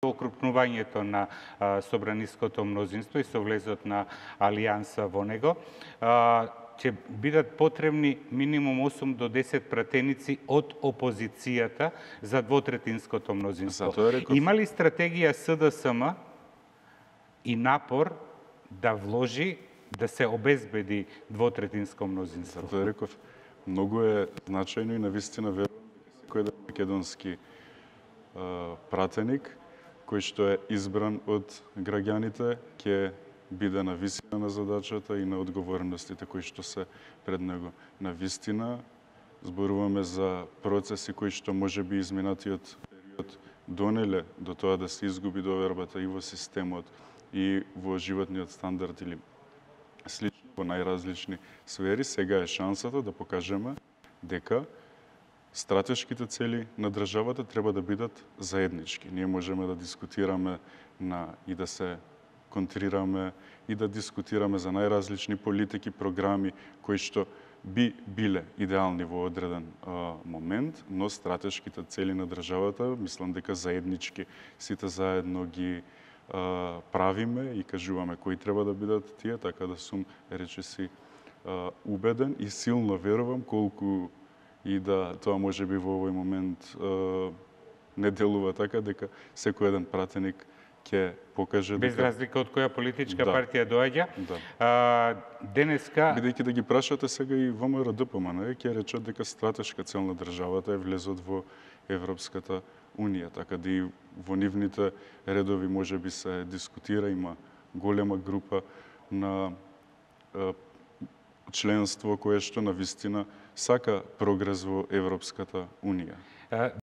окрупнувањето на собраниското мнозинство и со влезот на алијанса во него, ќе бидат потребни минимум 8 до 10 пратеници од опозицијата за двотретинското мнозинство. Има ли стратегија СДСМ и напор да вложи да се обезбеди двотретинско мнозинство? Затоа реков, многу е значајно и навистина верувам дека секој македонски пратеник кој што е избран од граѓаните ќе биде на висина на задачата и на одговорностите кои што се пред него. На вистина зборуваме за процеси кои што може би изминатиот период донеле до тоа да се изгуби довербата и во системот и во животниот стандард или слично во најразлични сфери. Сега е шансата да покажеме дека стратешките цели на државата треба да бидат заеднички. Ние можеме да дискутираме и да се контрираме и да дискутираме за најразлични политики, програми кои што би биле идеални во одреден момент, но стратешките цели на државата, мислам дека заеднички сите заедно ги правиме и кажуваме кои треба да бидат тие, така да сум речиси убеден и силно верувам колку и да тоа може би во овој момент не делува така, дека секој еден пратеник ќе покаже без разлика од која политичка партија доаѓа. Денеска бидејќи да ги прашате сега и ВМРО ДПМН, ќе речат дека стратешка цел на државата е влезот во Европската Унија, така да и во нивните редови може би се дискутира, има голема група на членство кое што на вистина сака прогрес во Европската Унија.